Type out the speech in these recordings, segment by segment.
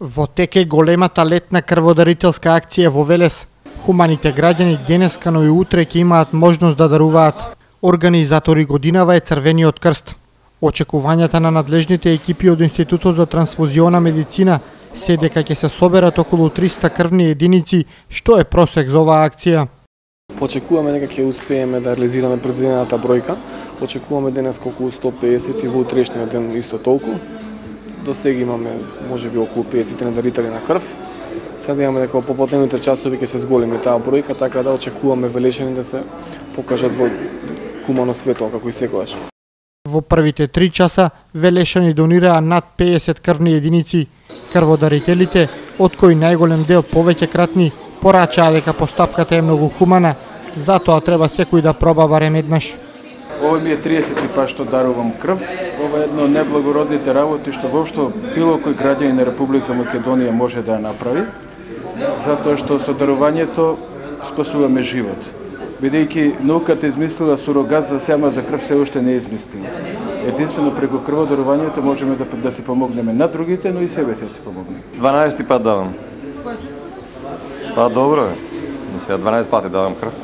Во тек е големата летна крводарителска акција во Велес. Хуманите граѓани денеска, но и утре ќе имаат можност да даруваат. Организатори годинава е Црвениот крст. Очекувањата на надлежните екипи од Институтот за трансфузиона медицина се дека ќе се соберат околу 300 крвни единици, што е просек за оваа акција. Очекуваме дека ќе успееме да реализираме предвидената бројка. Очекуваме денес околу 150 и во утрешниот ден исто толку. До сега имаме можеби околу 50 дарители на крв. Сега имаме дека во поподневните часови ќе се зголеми таа бројка, така да очекуваме Велешани да се покажат во хумано светло како и секогаш. Во првите 3 часа Велешани донираа над 50 крвни единици. Крводарителите, од кои најголем дел повеќе кратни, порачаа дека постапката е многу хумана, затоа треба секој да проба барем еднаш. Ова ми е 30 пат што дарувам крв. Ова е едно од неблагородните работи што воопшто било кој граѓанин на Република Македонија може да ја направи, затоа што со дарувањето спасуваме живот. Бидејќи науката измислила сурогат за сема за крв се уште не е измислила. Единствено преку крводарувањето можеме да се помогнеме на другите, но и себе се помогнеме. 12 пат давам. Па добро е. Сега 12 пати давам крв.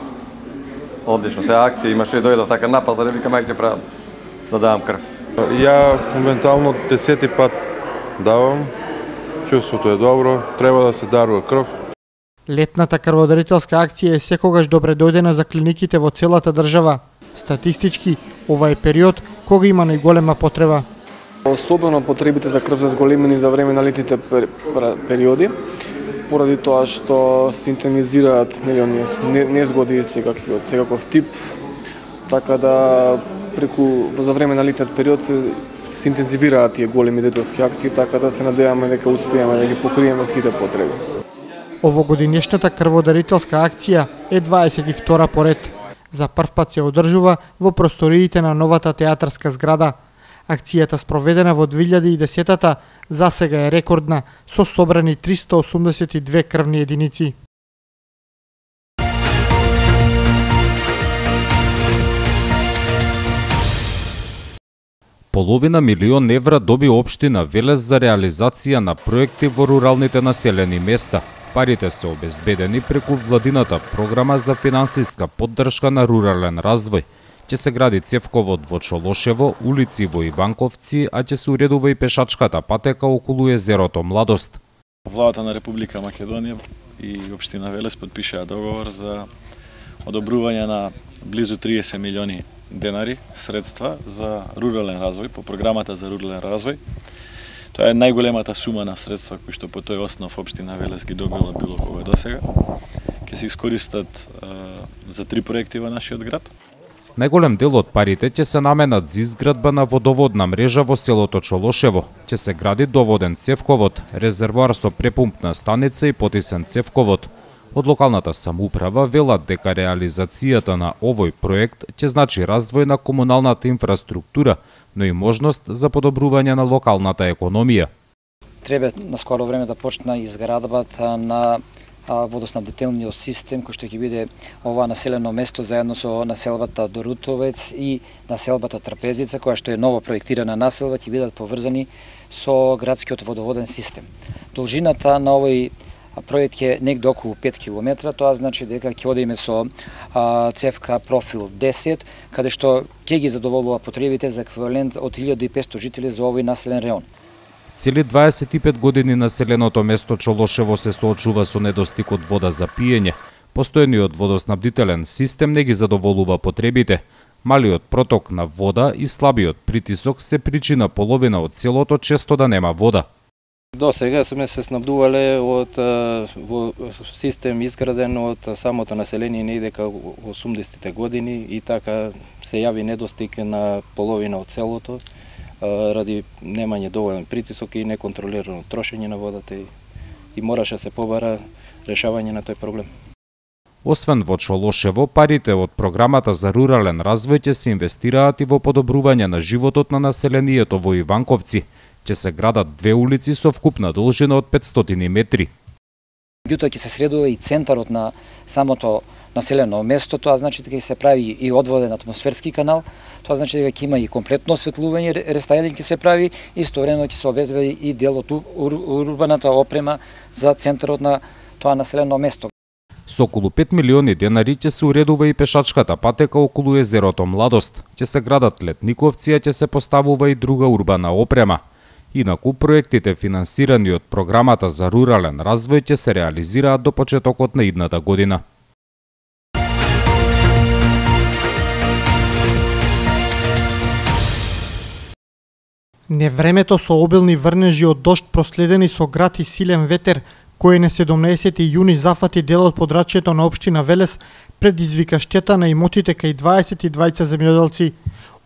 Одлично. Сега акција имаше и дојдов така напас, да не викам ајде правам да давам крв. Ја моментално 10 пат давам. Чувството е добро, треба да се дарува крв. Летната крводарителска акција е секогаш добре дојдена за клиниките во целата држава. Статистички, ова е период кога има најголема потреба. Особено потребите за крв се зголемени за време на летните периоди, поради тоа што се интензивираат незгоди од секаков тип, така да за време на летниот период се интензивираат тие големи дарителски акции, така да се надеваме дека успееме да ги покриеме сите потреби. Овогодинешната крводарителска акција е 22 поред. За прв пат се одржува во просториите на новата театарска зграда. Акцијата спроведена во 2010-та засега е рекордна, со собрани 382 крвни единици. Половина милион евра доби општина Велес за реализација на проекти во руралните населени места. Парите се обезбедени преку владината програма за финансиска поддршка на рурален развој. Ќе се гради цевковод во Чолошево, улици во Иванковци, а ќе се уредува и пешачката патека околу езерото Младост. Владата на Република Македонија и општина Велес подпишаа договор за одобрување на близу 30 милиони денари средства за рурален развој по програмата за рурален развој. Тоа е најголемата сума на средства кои што по тој основ општина Велес ги добила било кога досега. Ќе се искористат за 3 проекти во нашиот град. Најголем дел од парите ќе се наменат за изградба на водоводна мрежа во селото Чолошево. Ќе се гради доводен цевковод, резервоар со препумпна станица и потисен цевковод. Од локалната самоуправа велат дека реализацијата на овој проект ќе значи развој на комуналната инфраструктура, но и можност за подобрување на локалната економија. Треба на скоро време да почне изградбата на водоснабдителниот систем кој што ќе биде ова населено место заедно со населбата Дорутовец и населбата Трапезица, која што е ново проектирана населба, ќе бидат поврзани со градскиот водоводен систем. Должината на овој проект е негде околу 5 км, тоа значи дека ќе одиме со цевка профил 10, каде што ќе ги задоволува потребите за еквивалент од 1500 жители за овој населен реон. Цели 25 години населеното место Чолошево се соочува со недостиг од вода за пиење. Постојниот водоснабдителен систем не ги задоволува потребите. Малиот проток на вода и слабиот притисок се причина половина од селото често да нема вода. До сега сме се снабдувале од систем изграден од самото население негде како 80-те години и така се јави недостиг на половина од селото ради немање доволен притисок и неконтролирано трошење на водата и мораше се побара решавање на тој проблем. Освен во Чолошево, парите од програмата за рурален развој ќе се инвестираат и во подобрување на животот на населението во Иванковци. Ќе се градат 2 улици со вкупна должина од 500 метри. Меѓутоа ќе се средува и центарот на самото населено место, тоа значи дека ќе се прави и одводен атмосферски канал, тоа значи дека ќе има и комплетно осветлување, рестайлинг ќе се прави, истовремено ќе се обезбеди и дел од урбаната опрема за центарот на тоа населено место. Со околу 5 милиони денари ќе се уредува и пешачката патека околу езерото Младост, ќе се градат летниковци, а ќе се поставува и друга урбана опрема. Инаку проектите финансирани од програмата за рурален развој ќе се реализираат до почетокот на идната година. Невремето со обилни врнежи од дожд проследени со град и силен ветер, кој на 17 јуни зафати дел од подрачјето на општина Велес, предизвика штета на имотите кај 22 земјоделци.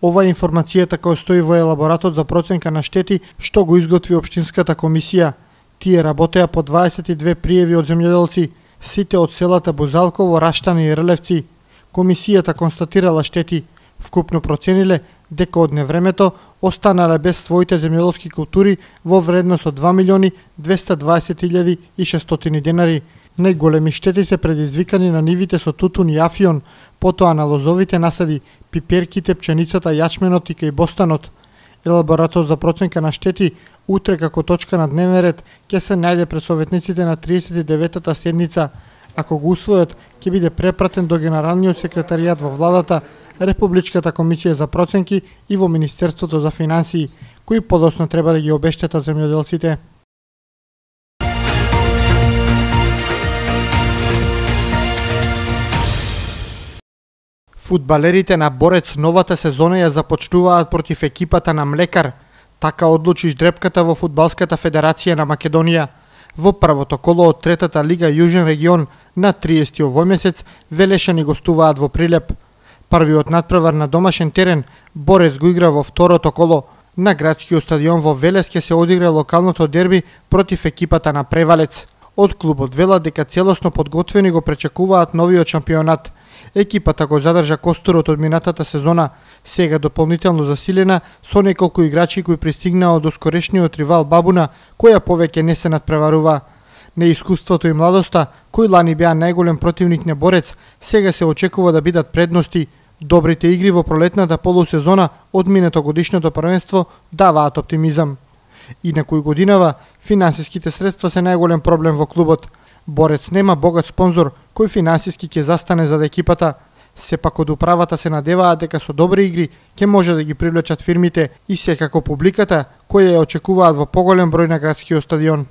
Ова е информацијата која стои во елаборатот за проценка на штети што го изготви општинската комисија. Тие работеа по 22 пријави од земјоделци, сите од селата Бузалково, Раштани и Релевци. Комисијата констатирала штети, вкупно процениле дека од невремето останале без своите земјоделски култури во вредност од 2.220.600 денари. Најголеми штети се предизвикани на нивите со тутун и афион, потоа на лозовите насади, пиперките, пченицата, јачменот и кај бостанот. Елаборатот за проценка на штети утре како точка на дневен ред ќе се најде пред советниците на 39-та седница. Ако го усвојат, ќе биде препратен до Генералниот секретаријат во владата, Републичката комисија за проценки и во Министерството за финансии, кои подоцна треба да ги обештетат земјоделците. Фудбалерите на Борец новата сезона ја започнуваат против екипата на Млекар. Така одлучи ждрепката во Фудбалската федерација на Македонија. Во првото коло од третата лига Јужен регион на 30 овој месец Велешани гостуваат во Прилеп. Првиот надпревар на домашен терен Борец го игра во второто коло. На градскиот стадион во Велес ќе се одигра локалното дерби против екипата на Превалец. Од клубот велат дека целосно подготвени го пречекуваат новиот шампионат. Екипата го задржа костурот од минатата сезона, сега дополнително засилена со неколку играчи кои пристигнаа од оскорешниот ривал Бабуна, која повеќе не се надпреварува. Неискуството и младоста, кои лани беа најголем противник на Борец, сега се очекува да бидат предности. Добрите игри во пролетната полусезона од минатогодишното првенство даваат оптимизам. И на кој годинава, финансиските средства се најголем проблем во клубот. Борец нема богат спонзор кој финансиски ќе застане за екипата. Сепак од управата се надеваат дека со добри игри ќе може да ги привлечат фирмите и секако публиката која ја очекуваат во поголем број на градскиот стадион.